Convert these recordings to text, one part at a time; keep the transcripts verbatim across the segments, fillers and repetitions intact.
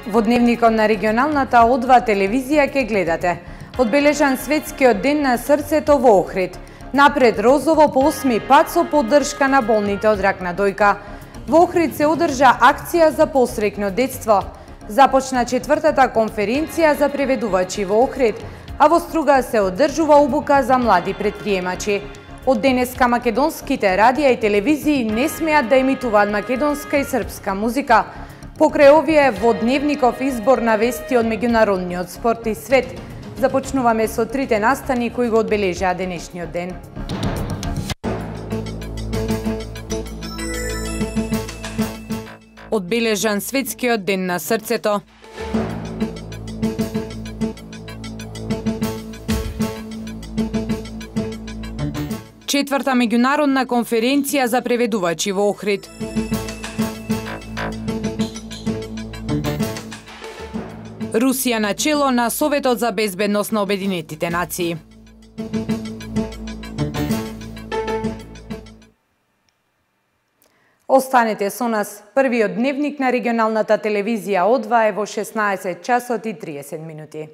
Во дневникот на регионалната О два телевизија ке гледате одбележан светскиот ден на срцето во Охрид. Напред Розово по осми пат со поддршка на болните од рак на дојка. Во Охрид се одржа акција за посреќно детство. Започна четвртата конференција за преведувачи во Охрид, а во Струга се одржува обука за млади претприемачи. Од денеска македонските радија и телевизии не смеат да емитуваат македонска и српска музика. Покрај овие во дневников избор на вести од меѓународниот спорт и свет, започнуваме со трите настани кои го одбележаа денешниот ден. Одбележан светскиот ден на срцето. Четврта меѓународна конференција за преведувачи во Охрид. Русија на чело на Советот за безбедност на Обединетите нации. Останете со нас. Првиот дневник на регионалната телевизија О два е во шеснаесет часот и триесет минути.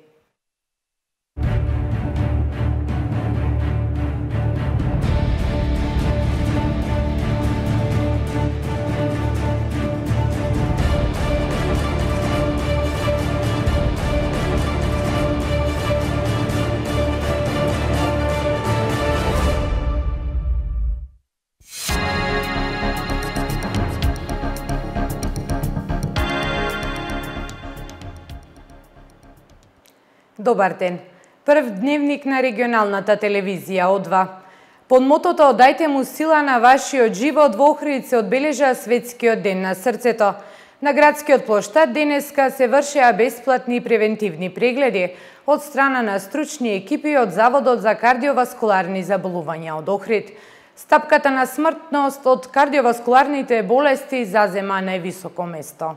Добар ден. Прв дневник на регионалната телевизија О два. Под мотото "Дајте му сила на вашиот живот" во Охрид се одбележа светскиот ден на срцето. На градскиот плоштад денеска се вршеа бесплатни превентивни прегледи од страна на стручни екипи од Заводот за кардиоваскуларни заболувања од Охрид. Стапката на смртност од кардиоваскуларните болести зазема највисоко место.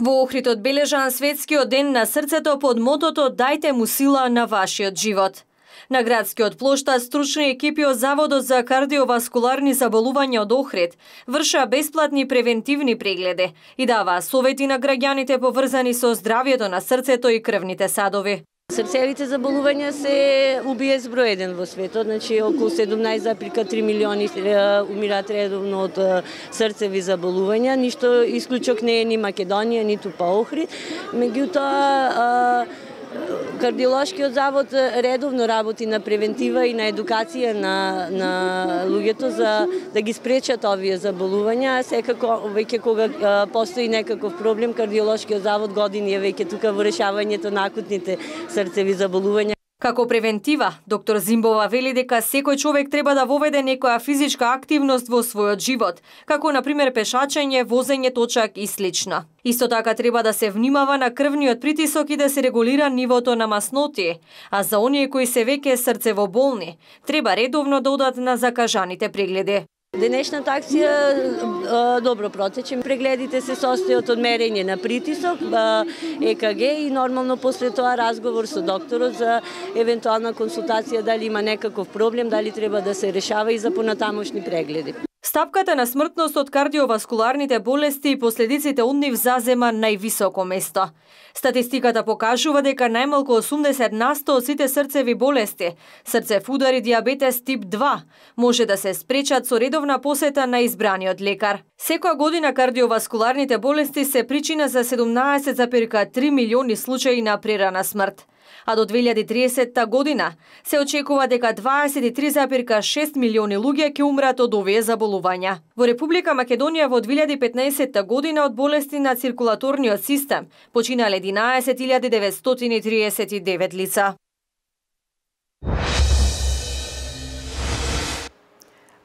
Во Охрид одбележан светскиот ден на срцето под мотото "Дајте му сила на вашиот живот". На градскиот плоштад стручни екипи од Заводот за кардиоваскуларни заболувања од Охрид вршаа бесплатни превентивни прегледи и даваа совети на граѓаните поврзани со здравјето на срцето и крвните садови. Срцевите заболувања се убиец број еден во светот, значи околу седумнаесет запирка три милиони умираат редовно од срцеви заболувања, ништо исклучок не е ни Македонија, ниту па Охрид. Меѓутоа, Кардиолошкиот завод редовно работи на превентива и на едукација на, на луѓето за да ги спречат овие заболувања. Секако, веќе кога а, постои некаков проблем, Кардиолошкиот завод години е веќе тука во решавањето на акутните срцеви заболувања. Како превентива, доктор Зимбова вели дека секој човек треба да воведе некоја физичка активност во својот живот, како на пример пешачење, возење точак и слично. Исто така треба да се внимава на крвниот притисок и да се регулира нивото на масноти, а за оние кои се веќе срцево болни, треба редовно да одат на закажаните прегледи. Денешната акција добро протече. Прегледите се состојат од мерење на притисок, Е К Г и нормално после тоа разговор со докторот за евентуална консултација дали има некаков проблем, дали треба да се решава и за понатамошни прегледи. Стапката на смртност од кардиоваскуларните болести и последиците од нив зазема највисоко место. Статистиката покажува дека најмалку осумдесет на сто од сите срцеви болести, срцев удар и диабетес тип два, може да се спречат со редовна посета на избраниот лекар. Секоја година кардиоваскуларните болести се причина за седумнаесет запирка три милиони случаи на прерана смрт. А до две илјади и триесетта година се очекува дека дваесет и три запирка шест милиони луѓе ќе умрат од овие заболувања. Во Република Македонија во две илјади и петнаесетта година од болести на циркулаторниот систем починале единаесет илјади деветстотини триесет и девет лица.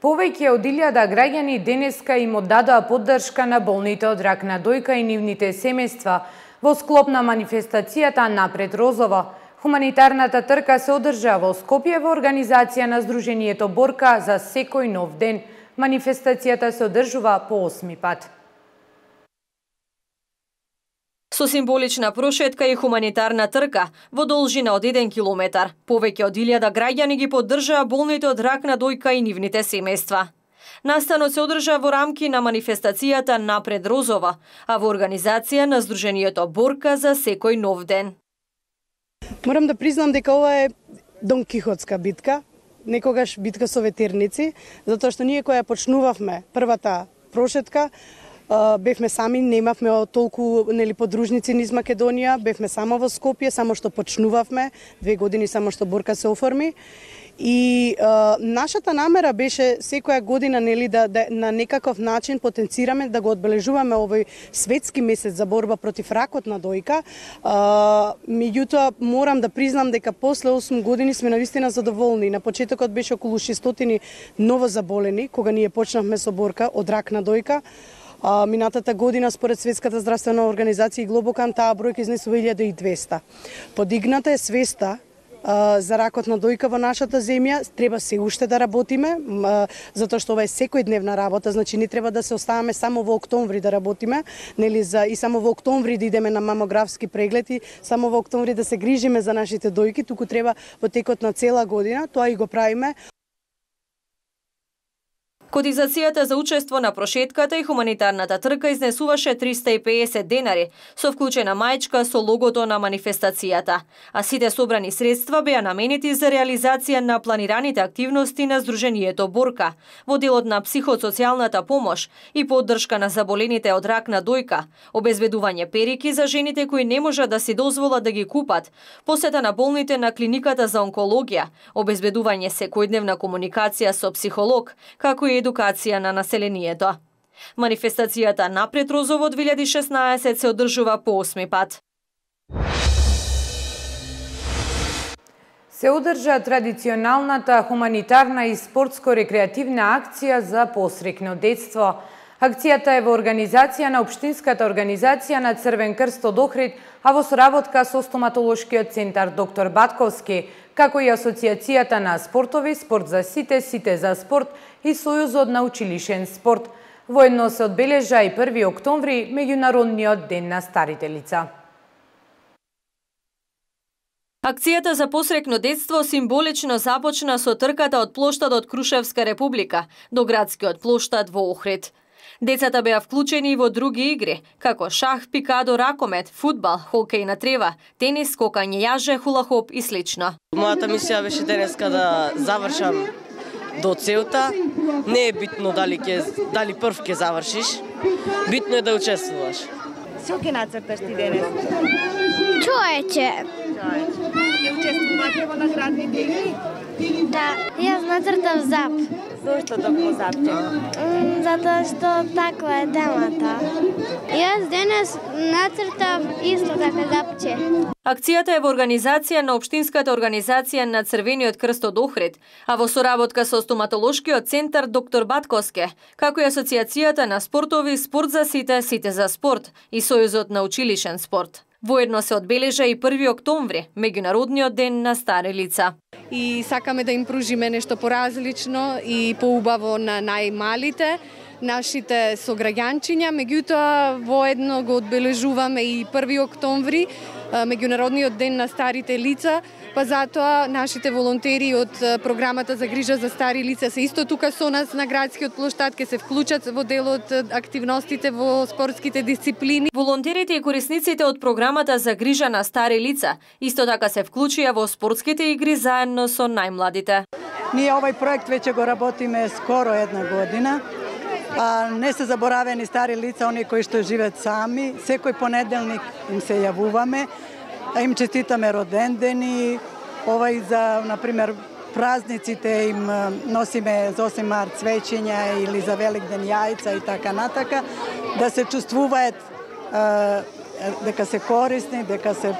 Повеќе од илјада граѓани денеска им оддадоа поддршка на болните од рак на дојка и нивните семејства во склоп на манифестацијата Напред Розово. Хуманитарната трка се одржа во Скопје во организација на Сдруженијето Борка за секој нов ден. Манифестацијата се одржува по осми пат. Со символична прошетка и хуманитарна трка во должина од еден километар, повеќе од илјада граѓани ги поддржаа болните од рак на дојка и нивните семејства. Настанот се одржа во рамки на манифестацијата Напред Розова, а во организација на Сдруженијето Борка за секој нов ден. Морам да признам дека ова е Дон Кихотска битка, некогаш битка со ветерници, затоа што ние која почнувавме првата прошетка, бевме сами, немавме толку нели подружници низ Македонија, бевме само во Скопје, само што почнувавме, две години само што Борка се оформи. И а, нашата намера беше секоја година нели да, да на некаков начин потенцираме да го одбележуваме овој светски месец за борба против ракот на дојка. А, меѓутоа морам да признам дека после осум години сме навистина задоволни. На почетокот беше околу шестстотини ново заболени кога ние почнавме со борка од рак на дојка. А, минатата година според Светската здравствена организација и Глобокан таа бројка изнесува илјада и двесте. Подигната е свеста за ракот на дојка во нашата земја, треба се уште да работиме, затоа што ова е секојдневна работа, значи не треба да се оставаме само во октомври да работиме, нели за и само во октомври да идеме на мамографски прегледи, само во октомври да се грижиме за нашите дојки, туку треба во текот на цела година, тоа и го правиме. Котизацијата за учество на прошетката и хуманитарната трка изнесуваше триста и педесет денари, со вклучена мајчка со логото на манифестацијата, а сите собрани средства беа наменети за реализација на планираните активности на Сдруженијето Борка, во делот на психосоцијалната помош и поддршка на заболените од рак на дојка, обезбедување перики за жените кои не можат да си дозволат да ги купат, посета на болните на клиниката за онкологија, обезбедување секојдневна комуникација со психолог, како и едукација на населението. Манифестацијата Напред Розово две илјади и шеснаесет се одржува по осми пат. Се одржа традиционалната хуманитарна и спортско-рекреативна акција за посрекно детство. Акцијата е во организација на Општинската организација на Црвен крст од Охрид, а во соработка со стоматолошкиот центар доктор Батковски, како и Асоцијацијата на спортови, Спорт за сите, Сите за спорт и Сојузот на училишен спорт. Воедно се одбележа и први октомври, меѓународниот ден на старите лица. Акцијата за посрекно детство символично започна со трката од плоштадот Крушевска република до градскиот плоштад во Охрид. Децата беа вклучени во други игри, како шах, пикадо, ракомет, фудбал, хокеј на трева, тенис, скокање јаже, хулахоп и слично. Мојата мисија беше денеска да завршам до целта. Не е битно дали ќе дали прв ќе завршиш, битно е да учествуваш. Што ќе нацрташ ти денес? Човече. Ќе учествувате во наградните игри? Да, јас нацртав зап. Зошто токму запче? Затоа што таква е темата. Јас денес нацртав исто така запче. Акцијата е во организација на Општинската организација на Црвениот крст од Охрид, а во соработка со стоматолошкиот центар доктор Батковски, како и Асоцијацијата на спортови Спорт за сите, Сите за спорт и Сојузот на училишен спорт. Воедно се одбележа и први октомври, меѓународниот ден на стари лица. И сакаме да им пружиме нешто поразлично и поубаво на најмалите, нашите сограѓанчиња, меѓутоа воедно го одбележуваме и први октомври, меѓународниот ден на старите лица, па затоа нашите волонтери од програмата за грижа за стари лица се исто тука со нас на градскиот плоштад, ке се вклучат во дел од активностите во спортските дисциплини. Волонтерите и корисниците од програмата за грижа на стари лица исто така се вклучија во спортските игри заедно со најмладите. Ние овој проект веќе го работиме скоро една година. А, не се заборавени стари лица, они кои што живеат сами. Секој понеделник им се јавуваме, а им честитаме роден ден и овај за, например, празниците им носиме за осми март цвеќиња или за Великден јајца и така натака, да се чувствуваат дека се корисни, дека се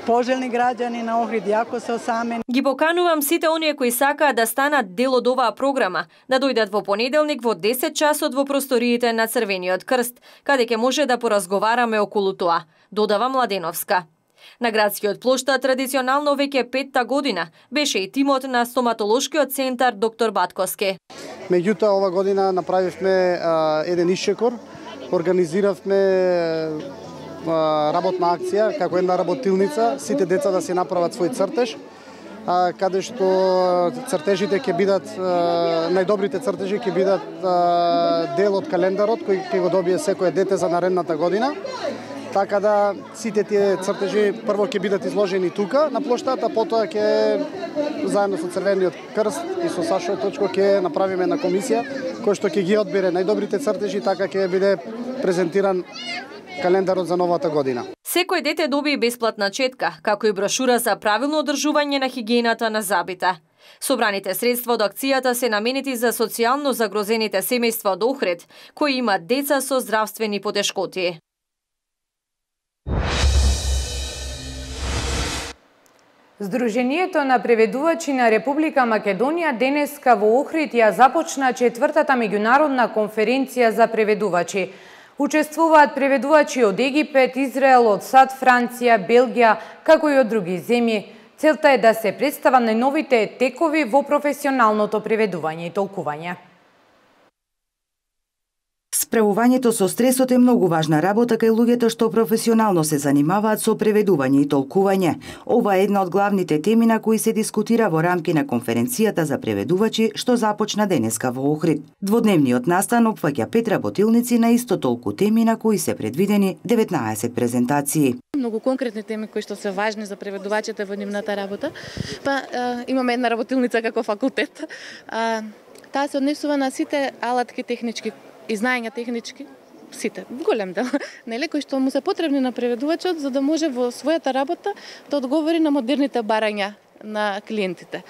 пожелни граѓани на Охрид, јако се осамени. Ги поканувам сите оние кои сакаат да станат дел од оваа програма, да дојдат во понеделник во десет часот во просториите на Црвениот крст, каде ќе може да поразговараме околу тоа, додава Младеновска. На градскиот плоштад традиционално веќе петта година беше и тимот на стоматолошкиот центар доктор Батковски. Меѓутоа ова година направивме а, еден ишчекор, организиравме работна акција, како една работилница, сите деца да се направат свој цртеж каде што цртежите ќе бидат најдобрите цртежи ќе бидат дел од календарот кој ќе го добие секое дете за наредната година. Така да сите тие цртежи прво ќе бидат изложени тука на плоштата, потоа ќе заедно со Црвениот крст и со Сашо Точко ќе направиме една комисија која што ќе ги одбере најдобрите цртежи, така ќе биде презентиран календарот за новата година. Секој дете доби бесплатна четка, како и брошура за правилно одржување на хигиената на забите. Собраните средства од акцијата се наменети за социјално загрозените семејства од Охрид, кои имат деца со здравствени потешкоти. Сдруженијето на преведувачи на Република Македонија денеска во Охрид ја започна четвртата меѓународна конференција за преведувачи. Учествуваат преведувачи од Египет, Израел, од САД, Франција, Белгија, како и од други земји. Целта е да се представат најновите текови во професионалното преведување и толкување. Справувањето со стресот е многу важна работа кај луѓето што професионално се занимаваат со преведување и толкување. Ова е една од главните теми на кои се дискутира во рамки на конференцијата за преведувачи што започна денеска во Охрид. Дводневниот настан опфаќа пет работилници на исто толку теми на кои се предвидени деветнаесет презентации. Многу конкретни теми кои што се важни за преведувачите во нивната работа. Па е, имаме една работилница како факултет. Е, таа се однесува на сите алатки технички и знаења технички, сите, голем дел, нели, кои што му се потребни на преведувачот за да може во својата работа да одговори на модерните барања на клиентите.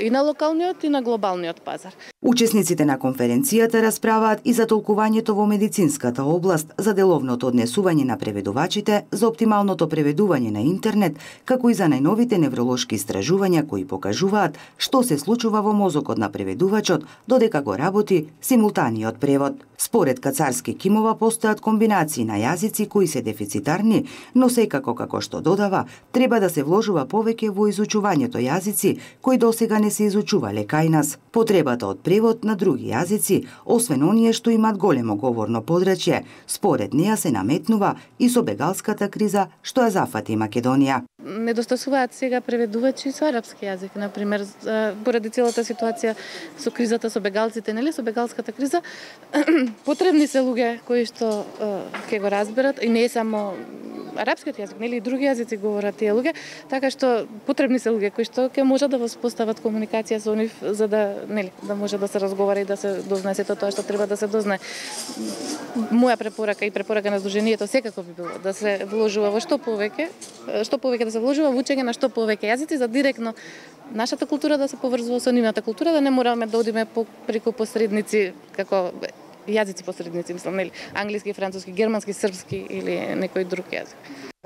И на локалниот и на глобалниот пазар. Учесниците на конференцијата расправаат и за толкувањето во медицинската област, за деловното однесување на преведувачите, за оптималното преведување на интернет, како и за најновите невролошки истражувања кои покажуваат што се случува во мозокот на преведувачот додека го работи симултаниот превод. Според Кацарски Кимова постојат комбинации на јазици кои се дефицитарни, но секако како што додава, треба да се вложува повеќе во изучувањето јазици кои досега не се изучувале кај нас. Потребата од превод на други јазици, освен оние што имат големо говорно подрачје, според неа се наметнува и со бегалската криза што ја зафати Македонија. Недостасуваат сега преведувачи со арапски јазик, например, поради целата ситуација со кризата со бегалците, нели, со бегалската криза, потребни се луѓе кои што ќе го разберат и не е само арапскиот јазик, нели, и други јазици говорат тие луѓе, така што потребни се луѓе кои што ќе можат да воспостават комуникација со нив за да, нели, да може да се разговара и да се дознае сето тоа што треба да се дознае. Моја препорака и препорака на Сдруженијето секако би било да се вложува во што повеќе, што повеќе да се вложува во учење на што повеќе јазици за директно нашата култура да се поврзува со нивната култура, да не мораме да одиме по, преку посредници како јазици посредници, мислам, нели, англиски, француски, германски, српски или некој друг јазик.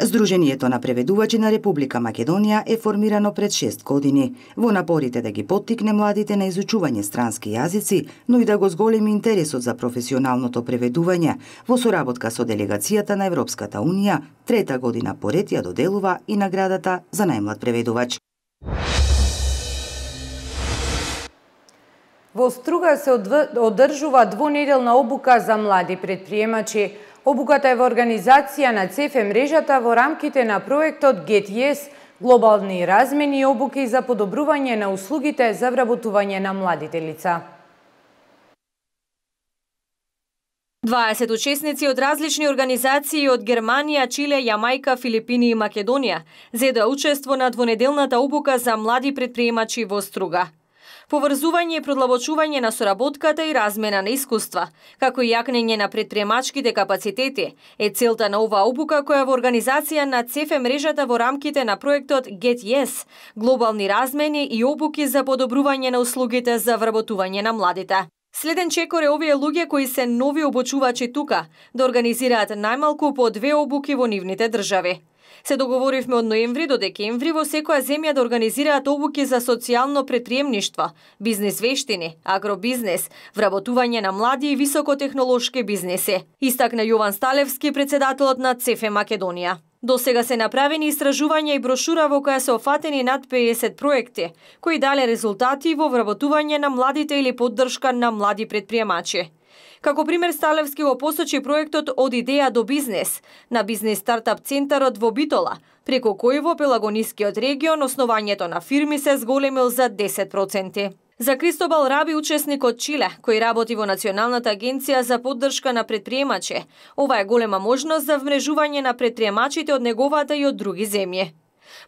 Сдруженијето на преведувачи на Република Македонија е формирано пред шест години во напорите да ги поттикне младите на изучување странски јазици, но и да го зголеми интересот за професионалното преведување. Во соработка со делегацијата на Европската унија, трета година поред ја доделува и наградата за најмлад преведувач. Во Струга се одржува двонеделна обука за млади предприемачи. Обуката е во организација на ЦЕФ мрежата во рамките на проектот Get Yes, глобални размени и обуки за подобрување на услугите за вработување на младите лица. дваесет учесници од различни организации од Германија, Чиле, Јамајка, Филипини и Македонија зедоа учество на двонеделната обука за млади предприемачи во Струга. Поврзување и продлабочување на соработката и размена на искуства, како и јакнење на предприемачките капацитети, е целта на оваа обука која во организација на ЦЕФ мрежата во рамките на проектот Get Yes, глобални размени и обуки за подобрување на услугите за вработување на младите. Следен чекор е овие луѓе кои се нови обучувачи тука, да организираат најмалку по две обуки во нивните држави. Се договоривме од ноември до декември во секоја земја да организираат обуки за социјално предприемништво, бизнис вештини, агробизнес, вработување на млади и високотехнолошки бизнеси, истакна Јован Сталевски, председателот на ЦЕФ Македонија. До сега се направени истражувања и брошура во која се офатени над педесет проекти, кои дале резултати во вработување на младите или поддршка на млади предприемачи. Како пример Сталевски го посочи проектот Од идеја до бизнес на бизнес стартап центарот во Битола, преку кој во Пелагонискиот регион основањето на фирми се зголемил за десет проценти. За Кристобал Раби, учесник од Чиле, кој работи во Националната агенција за поддршка на претприемачи, ова е голема можност за вмрежување на претприемачите од неговата и од други земји.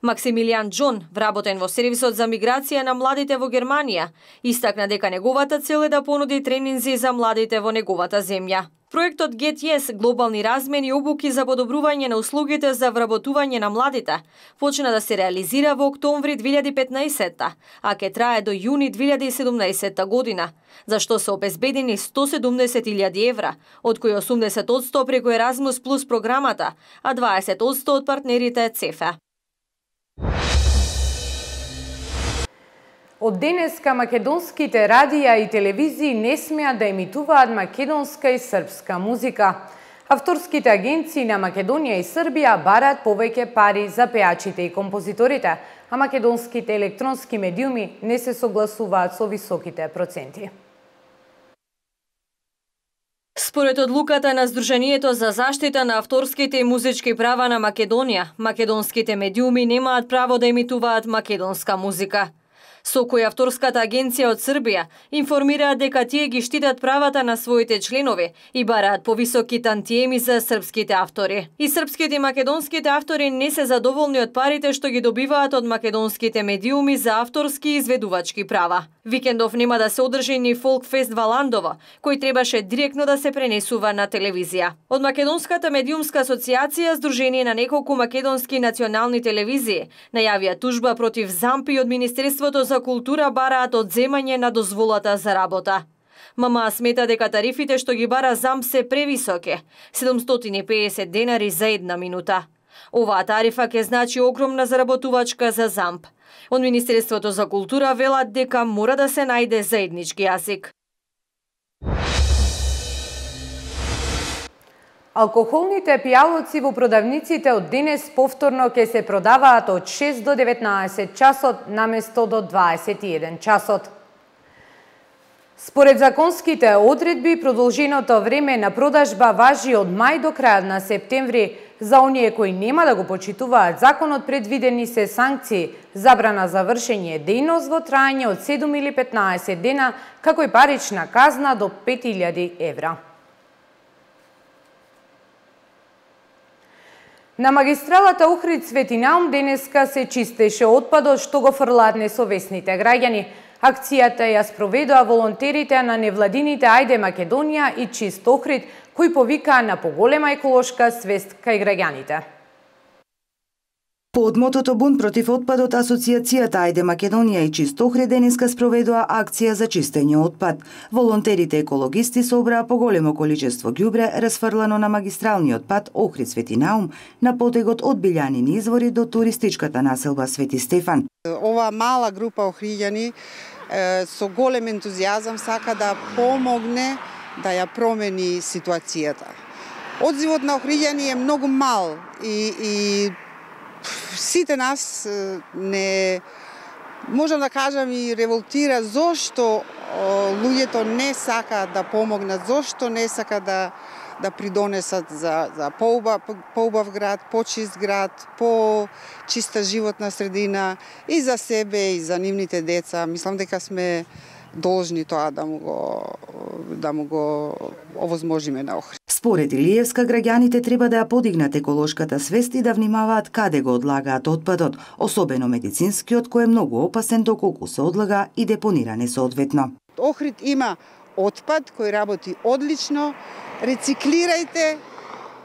Максимилијан Џон, вработен во сервисот за миграција на младите во Германија, истакна дека неговата цел е да понуди тренинзи за младите во неговата земја. Проектот Get Yes, глобални размени и обуки за подобрување на услугите за вработување на младите, почна да се реализира во октомври две илјади и петнаесетта, а ќе трае до јуни две илјади и седумнаесетта година, за што се обезбедени сто седумдесет илјади евра, од кои осумдесет одсто преку Еразмус Плюс програмата, а дваесет одсто од партнерите ЦЕФЕ. Од денеска македонските радија и телевизии не смеат да емитуваат македонска и српска музика. Авторските агенции на Македонија и Србија бараат повеќе пари за пеачите и композиторите, а македонските електронски медиуми не се согласуваат со високите проценти. Според одлуката на Сдруженијето за заштита на авторските и музички права на Македонија, македонските медиуми немаат право да емитуваат македонска музика. Со кој авторската агенција од Србија информираат дека тие ги штитат правата на своите членови и бараат повисоки тантиеми за српските автори. И српските и македонските автори не се задоволни од парите што ги добиваат од македонските медиуми за авторски и изведувачки права. Викендов нема да се одржи ни Фолкфест Валандово, кој требаше директно да се пренесува на телевизија. Од Македонската медиумска асоциација, Сдружение на неколку македонски национални телевизии, најавија тужба против ЗАМП и од Министерството за култура бараат одземање на дозволата за работа. ММА смета дека тарифите што ги бара ЗАМП се превисоки, седумстотини и педесет денари за една минута. Оваа тарифа ќе значи огромна заработувачка за ЗАМП. Од Министерството за култура велат дека мора да се најде заеднички јазик. Алкохолните пијалоци во продавниците од денес повторно ќе се продаваат од шест до деветнаесет часот наместо до дваесет и еден часот. Според законските одредби, продолженото време на продажба важи од мај до крајот на септември. За оние кои нема да го почитуваат законот, предвидени се санкции, забрана за вршење дејност во трајање од седум или петнаесет дена, како и парична казна до пет илјади евра. На магистралата Охрид-Свети Наум денеска се чистеше отпадот што го фрлаат несовесните граѓани. Акцијата ја спроведоа волонтерите на невладините Ајде Македонија и Чист Охрид, кои повикаа на поголема еколошка свест кај граѓаните. Под мотото Бунт против отпадот, Асоцијацијата Ајде Македонија и Чист Охрид денеска спроведоа акција за чистење отпад. Волонтерите екологисти собраа поголемо количество ѓубре расфрлано на магистралниот пат Охрид-Свети Наум на потегот од Билјанини извори до туристичката населба Свети Стефан. Ова мала група охриѓани со голем ентузијазам сака да помогне да ја промени ситуацијата. Одзивот на охриѓани е многу мал и, и сите нас не можам да кажам и револтира зошто луѓето не сака да помогнат, зошто не сака да да придонесат за за поубав поубав град, почист град, по чиста животна средина и за себе и за нивните деца. Мислам дека сме должни тоа да му го да му го овозможиме на Охрид. Според Илиевска, граѓаните треба да ја подигнат еколошката свест и да внимаваат каде го одлагаат отпадот, особено медицинскиот, кој е многу опасен доколку се одлага и депонира несоодветно. Охрид има отпад кој работи одлично. Рециклирајте,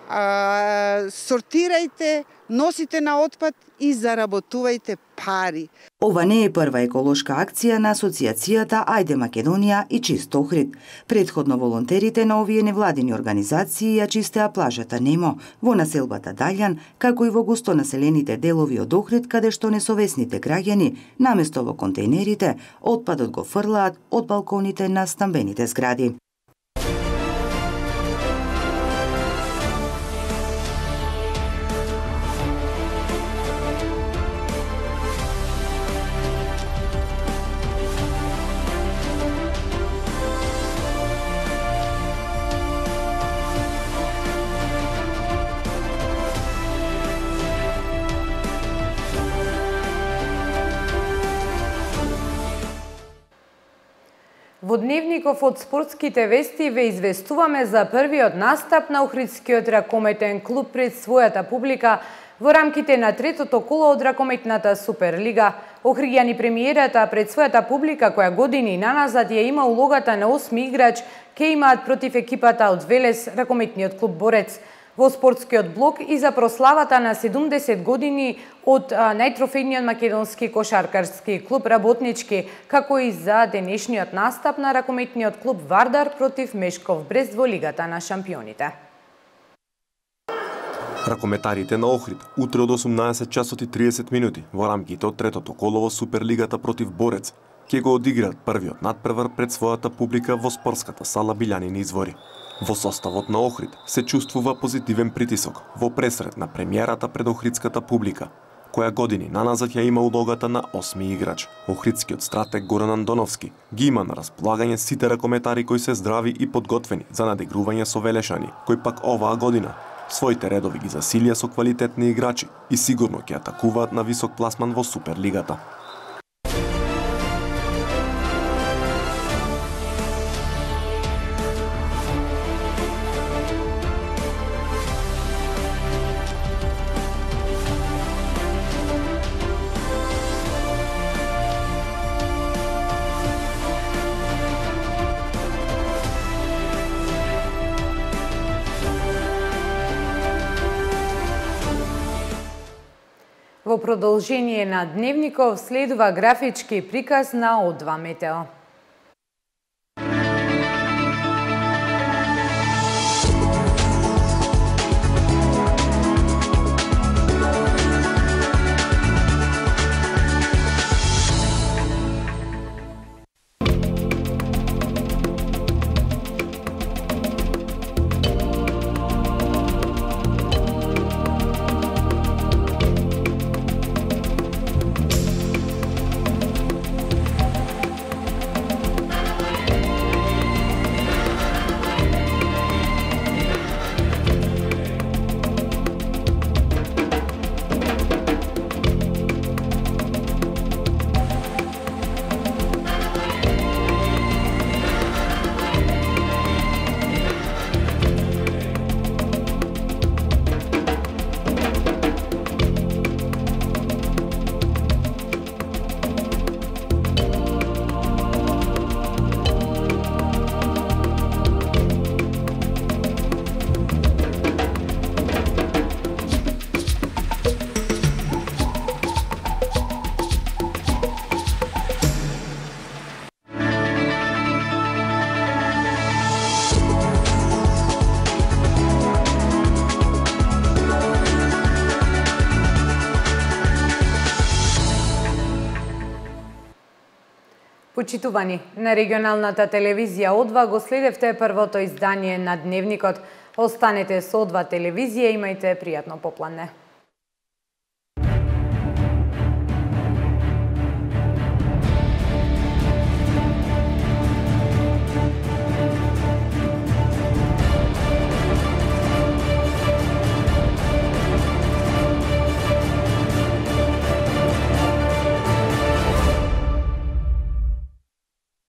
а, сортирајте, носите на отпад и заработувајте пари. Ова не е прва еколошка акција на Асоцијацијата Ајде Македонија и Чист Охрид. Предходно волонтерите на овие невладини организации ја чистеа плажата Немо во населбата Далјан, како и во густо населените делови од Охрид, каде што несовесните граѓани наместо во контејнерите отпадот го фрлаат од балконите на стамбените згради. Во Дневников од спортските вести ве известуваме за првиот настап на Охридскиот ракометен клуб пред својата публика во рамките на третото коло од ракометната Суперлига. Охриѓани премиерата пред својата публика која години наназад ја има улогата на осми играч ке имаат против екипата од Велес, ракометниот клуб Борец. Во спортскиот блок и за прославата на седумдесет години од најтрофејниот македонски кошаркарски клуб Работнички, како и за денешниот настап на ракометниот клуб Вардар против Мешков Брест во Лигата на шампионите. Ракометарите на Охрид утре од осумнаесет часот и триесет минути во рамките од третото коло во Суперлигата против Борец ќе го одиграат првиот надпревар пред својата публика во спортската сала Билјанини извори. Во составот на Охрид се чувствува позитивен притисок во пресрет на премиерата пред охридската публика, која години наназад ја има улогата на осми играч. Охридскиот стратег Горан Андоновски ги има на располагање сите ракометари кои се здрави и подготвени за надигрување со Велешани, кои пак оваа година своите редови ги засилија со квалитетни играчи и сигурно ќе атакуваат на висок пласман во Суперлигата. Во продолжение на Дневников следува графички приказ на О два Метео. Почитувани, на регионалната телевизија О два го следевте првото издание на Дневникот. Останете со О два телевизија, имајте пријатно попладне.